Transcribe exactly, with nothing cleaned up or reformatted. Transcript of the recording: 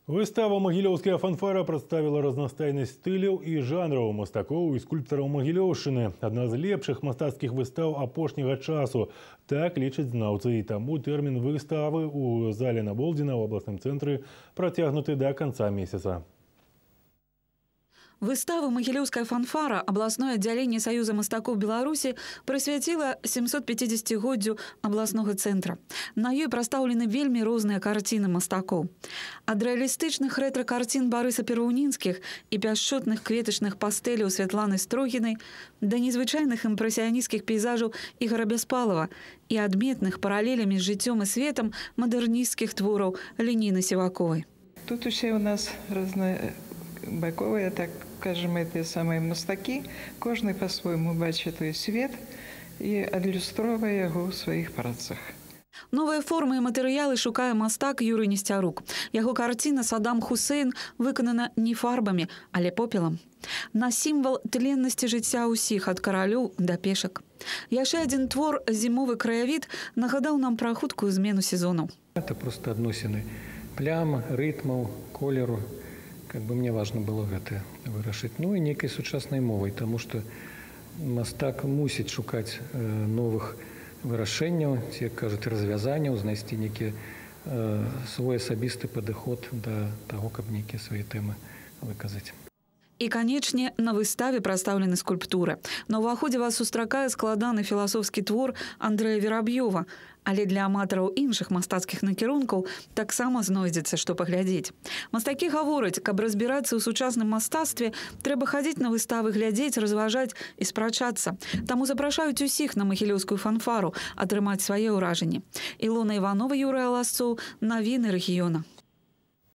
Выстава «Магілёўская фанфара» представила разнастайнасць стыляў і жанраў мастакоў і скульптараў Магілёўшчыны. Одна з лепшых мастацкіх выстаў апошняга часу. Так лічаць знаўцы, і таму тэрмін выставы у зале Наболдзіна ў абласным цэнтры працягнуты да канца месяца. Выставу «Магілёўская фанфара» областное отделение Союза мастакоў Беларуси прысвяціла семьсот-пятидесятигоддзю областного центра. На ёй прадстаўлены вельмі розныя карціны мастакоў. Ад рэалістычных рэтра-карцін Барыса Пераўнінскіх і пяшчотных кветачных пастэляў Святланы Строгінай да незвычайных імпрэсіянісцкіх пейзажаў Ігара Бяспалава і адметных паралелямі з жыццём і светам мадэрнісцкіх твораў Леніны Сіваковай. Тут усе у нас рознобаковые, так скажем, эти самые мастаки. Кожный по-своему бачит той свет и адлюстроўвае яго ў сваіх працах. Новыя формы і матэрыялы шукае мастак Юрый Несцярук. Яго карціна «Саддам Хусейн» выканана не фарбамі, але попелам. На сімвал тленнасці жыцця ўсіх, ад каралёў да пешак. Яшчэ адзін твор «Зімовы краявід» нагадаў нам пра хуткую змену сезонаў. Это просто адносіны плям, рытмаў, колеру. Как бы мне важно было гэта вырашыць. Ну і нейкай сучаснай мовай, таму што мастак мусіць шукаць э, новых вырашэнняў, ці, як кажуць, развязанняў, знайсці нейкі э, свой асабісты падыход да таго, каб нейкія свае тэмы выказаць. І, канечне, на выставе прадстаўлены скульптуры. На ўваходзе вас сустракае складаны філасофскі твор Андрэя Вераб'ёва, але для аматараў іншых мастацкіх накірункаў таксама знойдзецца, што паглядзець. Мастакі гавораць, каб разбірацца ў сучасным мастацтве, трэба хадзіць на выставы, глядзець, разважаць і спрачацца. Таму запрашаюць усіх на Магілёўскую фанфару атрымаць свае ўражанні. Ілона Іванова, Юрый Аласцоў, навіны рэгіёна.